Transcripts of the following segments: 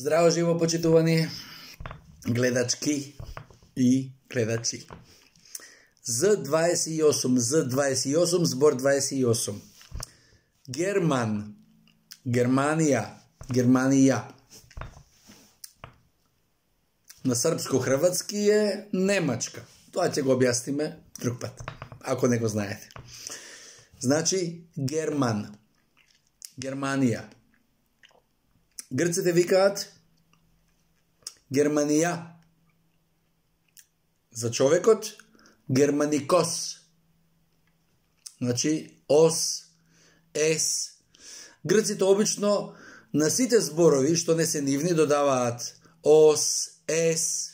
Здраво живо, почитувани гледачки и гледачи. Z28, збор 28. Герман, Германија. На српско-хрватски е Немачка. Тоа ќе го објасниме друг пат, ако не го знаете. Значи, Герман, Германија. Грците викаат Германија. За човекот Германикос. Значи, ос, ес. Грците обично на сите зборови што не се нивни додаваат ос, ес,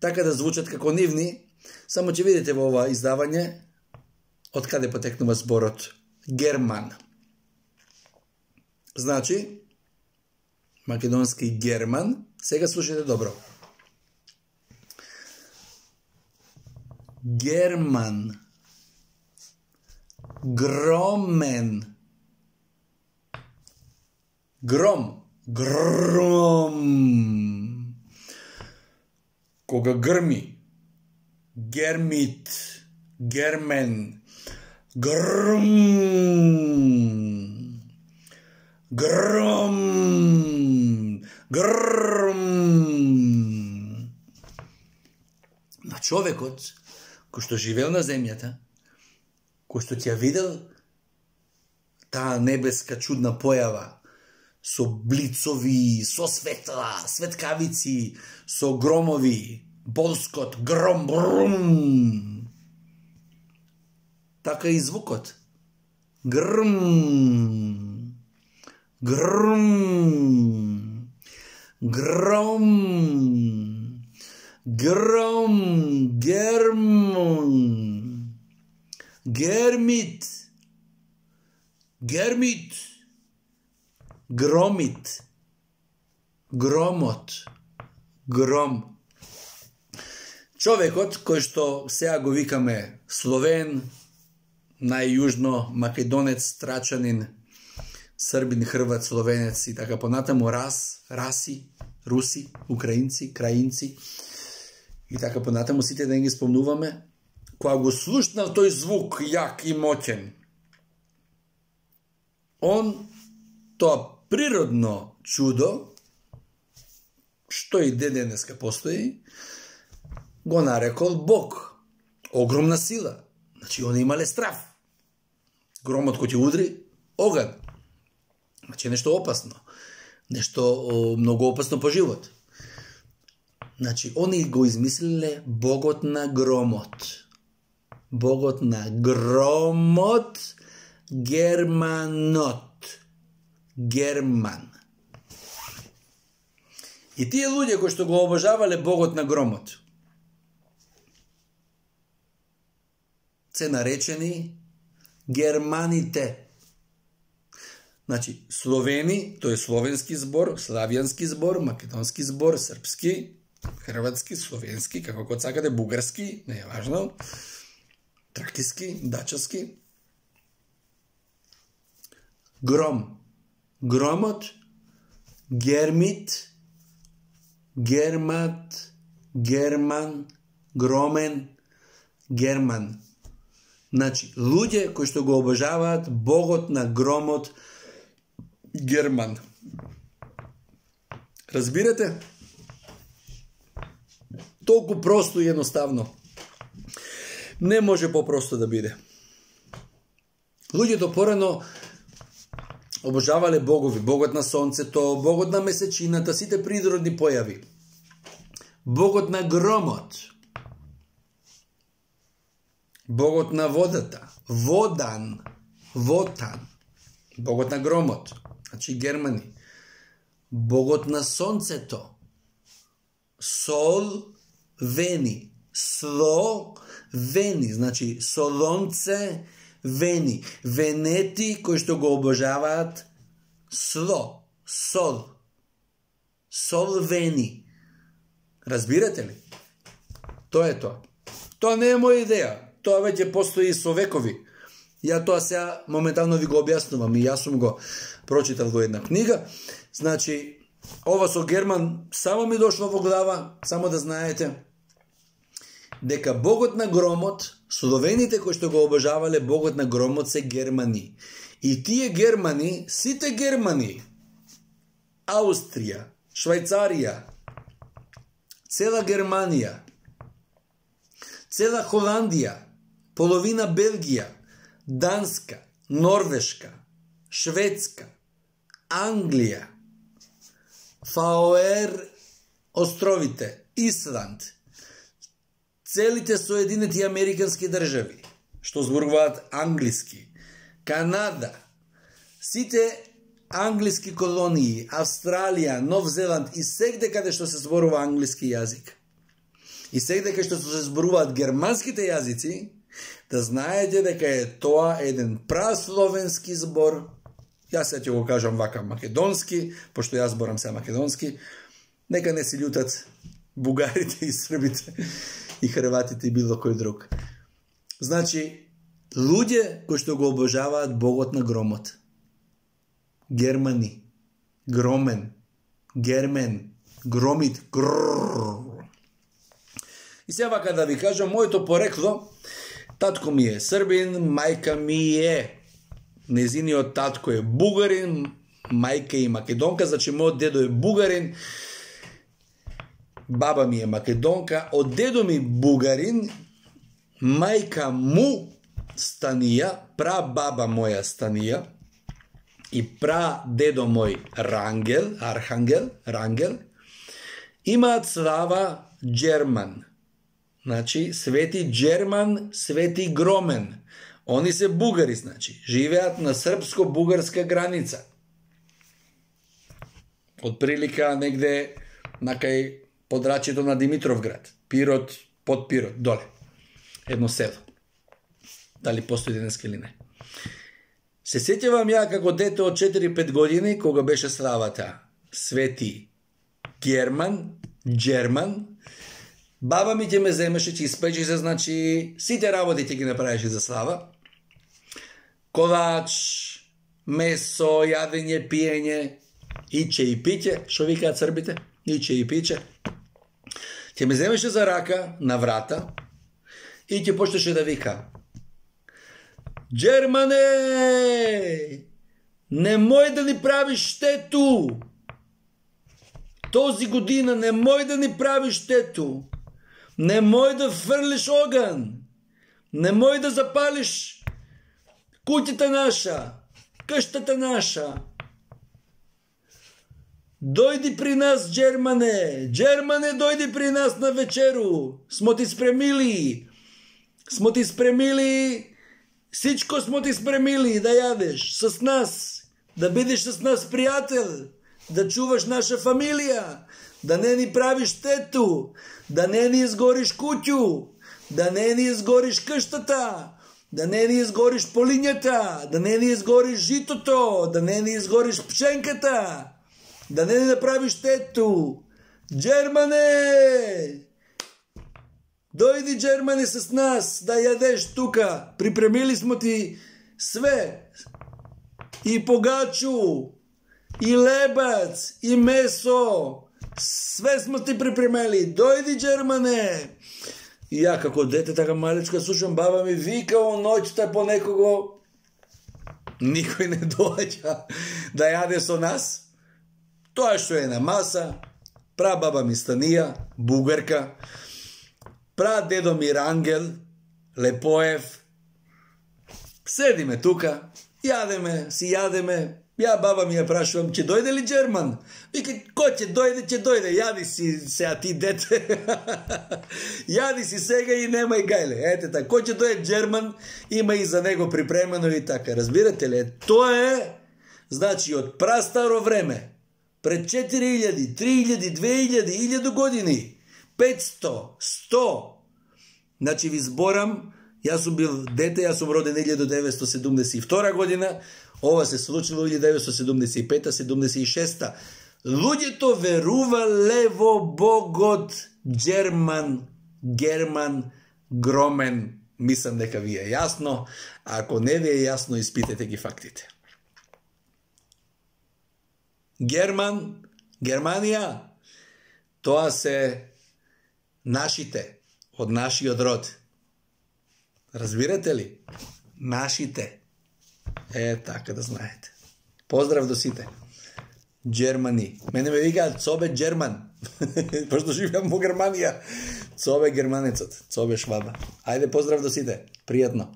така да звучат како нивни, само ќе видите во ова издавање од каде потекнува зборот Герман. Значи, македонски Герман, сега слушайте добро. Герман, громен, гром, кога грми, гермит, гермен, гром, на човекот кој што живеел на земјата, кој што ќе видел таа небеска чудна појава со блицови, со светла, светкавици, со громови, болскот, гром, така и звукот. Гром, гермит, громит, громот, гром. Човекот кој што сега го викаме Словен, најјужно македонец, трачанин, србин, хрват, словенец и така понатаму, раси, руси, украинци, краинци и така понатаму, сите да ги спомнуваме, кога го слушнал тој звук јак и моќен, он тоа природно чудо, што и денеска постои, го нарекол Бог. Огромна сила. Значи, он имале страв. Громот кој ќе удри, оган. Значи, нешто опасно. Нешто многу опасно по живот. Значи, они го измислиле Богот на громот. Богот на громот, Германот. Герман. И тие луѓе кои што го обожавале Богот на громот, се наречени германите. Значи, словени, тој е словенски збор, славјански збор, македонски збор, српски, хрватски, словенски, како код сакате, бугарски, не е важно, тракиски, дачаски. Гром. Громот, гермит, гермат, герман, громен, герман. Значи, луѓе кои што го обожаваат Богот на громот Герман. Разбирате? Толку просто и едноставно. Не може попросто да биде. Луѓето порано обожавале богови, Богот на сонцето, Богот на месечината, сите природни појави. Богот на громот, Богот на водата, Вотан, Богот на громот, значи германи. Богот на сонцето, Вени, значи солонце, Вени, венети кои што го обожаваат сол, Вени. Разбирате ли? Тоа е тоа. Тоа не е моја идеја. Тоа веќе постои со векови. Ја тоа сега моментално ви го објаснувам и јас сум го прочитал во една книга. Значи, ова со Герман само ми дошло во глава, само да знаете, дека богот на громот, словените кои што го обожавале богот на громот се германи. И тие германи, сите германи, Аустрија, Швајцарија, цела Германија, цела Холандија, половина Белгија, Данска, Норвешка, Шведска, Англија, Фаоер островите, Исланд, целите Соединети Американски држави, што зборуваат англиски, Канада, сите англиски колонии, Австралија, Нов Зеланд и сегде каде што се зборува англиски јазик. И сегде каде што се зборуваат германските јазици, да знаете дека е тоа еден прасловенски збор. Јас ќе го кажам вака македонски, пошто јас зборам се македонски. Нека не се љутат бугарите и србите и хрватите и било кој друг. Значи, луѓе кои што го обожаваат богот на громот. Германи, громен, гермен, громит, грррр. И сега вака да ви кажам, моето порекло, татко ми е србин, мајка ми е, незиниот татко е бугарин, мајка и македонка, значи мојот дедо е бугарин, баба ми е македонка, од дедо ми бугарин, мајка му Станија, прабаба моја Станија и прадедо мој Рангел, имаат слава Джерман. Значи, Свети Джерман, Свети Громен. Они се бугари, значи, живеат на српско-бугарска граница. Од прилика негде накај подрачјето на Димитровград, Пирот, под Пирот, доле. Едно село. Дали постои денеска или не. Се сеќавам ја како дете од 4-5 години, кога беше славата Свети Джерман, баба ми ќе ме земеше, ќе испечи се, значи, сите работи ќе ги направеше за слава. Колач, месо, јадење, пиење, иче и пиќе, шо викаат србите, иче и пиќе. Ќе ме земеше за рака на врата и ќе почнеше да вика: Джермане, немој да ни правиш штету. Този година немој да ни правиш штету. Немој да фрлиш оган. Немој да запалиш куќата наша, кштата наша. Дојди при нас, Джермане. Джермане, дојди при нас на вечеру. Смо ти спремили. Сичко смо ти спремили да јадеш с нас, да бидеш с нас пријател, да чуваш наша фамилија, да не ни правиш штету, да не ни изгориш куќу, да не ни изгориш кштата, да не ни изгориш полињата, да не ни изгориш житото, да не ни изгориш пшенката, да не ни направиш штету. Джермане! Дојди, Джермане, с нас да јадеш тука. Припремили смо ти све. И погачу, и лебац, и месо. Све смо ти припремили. Дојди, Джермане. И ја како дете така малечка слушам баба ми вика о ноќта по некого. Никој не доаѓа да јаде со нас. Тоа што е на маса. Прабаба ми Станија, бугарка. Прадедо ми Рангел, Лепоев. Седиме тука, јадеме, си јадеме. Ја баба ми ја прашувам, ќе дојде ли Джерман? Вика, кој ќе дојде, јади си сега ти дете. Јади си сега и немај гајле. Ете така, кој ќе дојде Джерман, има и за него припремено и така. Разбирате ли? Тоа е, значи, од прастаро време, пред 4000, 3000, 2000, 1000 години. 500, 100. Значи ви зборам, јас сум бил дете, јас сум роден 1972 година, ова се случило 1975-76. Луѓето верувале во богот Герман, Громен. Мислам дека ви е јасно, а ако не ви е јасно, испитете ги фактите. Герман, Германија, тоа се нашите, од нашиот род. Разбирате ли? Нашите. Така да знаете. Поздрав до сите. Germany. Мене ме викаат Цобе Джерман. Пошто живеам во Германија. Цобе германецот. Цобе шваба. Ајде, поздрав до сите. Пријатно.